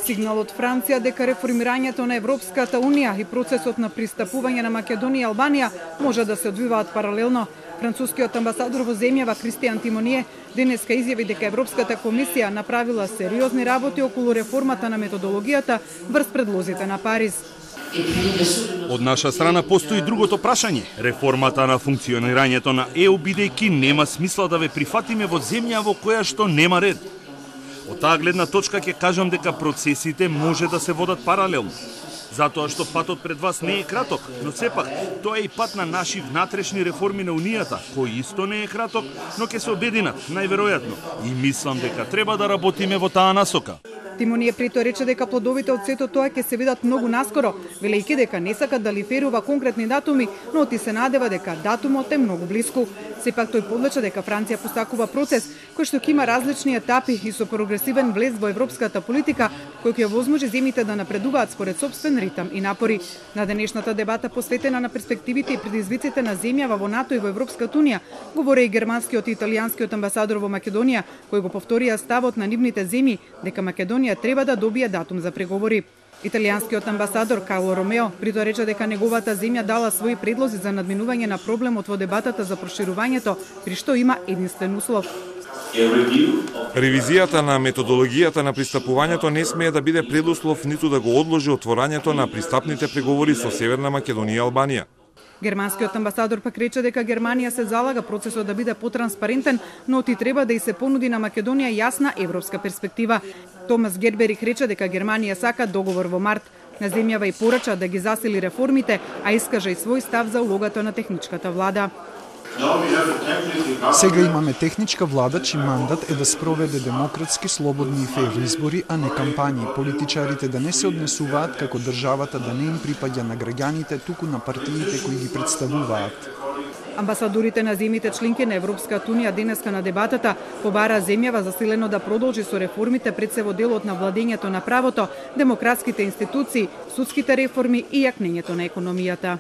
Сигнал од Франција дека реформирањето на Европската Унија и процесот на пристапување на Македонија и Албанија може да се одвиваат паралелно. Францускиот амбасадор во земјава Кристијан Тимоние денеска изјави дека Европската комисија направила сериозни работи околу реформата на методологијата врз предлозите на Париз. Од наша страна постои другото прашање, реформата на функционирањето на ЕУ, бидејќи нема смисла да ве прифатиме во земја во која што нема ред. Од таа гледна точка ќе кажам дека процесите може да се водат паралелно. Затоа што патот пред вас не е краток, но сепак тоа е и пат на наши внатрешни реформи на Унијата, кој исто не е краток, но ќе се обединат, најверојатно. И мислам дека треба да работиме во таа насока. Тимоние притоа рече дека плодовите од сето тоа ќе се видат многу наскоро, велејќи дека не сака да лиферува конкретни датуми, но ти се надева дека датумот е многу блиску. Сепак тој подлече дека Франција постакува процес кој што ќе има различни етапи и со прогресивен влез во европската политика, кој ќе возможи земјите да напредуваат според сопствен ритам и напори. На денешната дебата посветена на перспективите и предизвиците на земјава во НАТО и во Европската Унија, говори и германскиот и италијанскиот амбасадор во Македонија, кој го повторија ставот на нивните земји дека Македонија треба да добие датум за преговори. Италијанскиот амбасадор Карло Ромео притоа рече дека неговата земја дала своји предлози за надминување на проблемот во дебатата за проширувањето, при што има единствен услов. Ревизијата на методологијата на пристапувањето не смее да биде предуслов ниту да го одложи отворањето на пристапните преговори со Северна Македонија и Албанија. Германскиот амбасадор пак рече дека Германија се залага процесот да биде потранспарентен, но ти треба да и се понуди на Македонија јасна европска перспектива. Томас Герберих рече дека Германија сака договор во март. На земјава и порача да ги засили реформите, а искажа и свој став за улогата на техничката влада. Сега имаме техничка влада чиј мандат е да спроведе демократски, слободни и фер избори, а не кампањи. Политичарите да не се однесуваат како државата да не им припаѓа на граѓаните, туку на партиите кои ги представуваат. Амбасадорите на земјите членки на Европската Унија денеска на дебатата побара земјава засилено да продолжи со реформите пред се во делот на владењето на правото, демократските институции, судските реформи и јакнењето на економијата.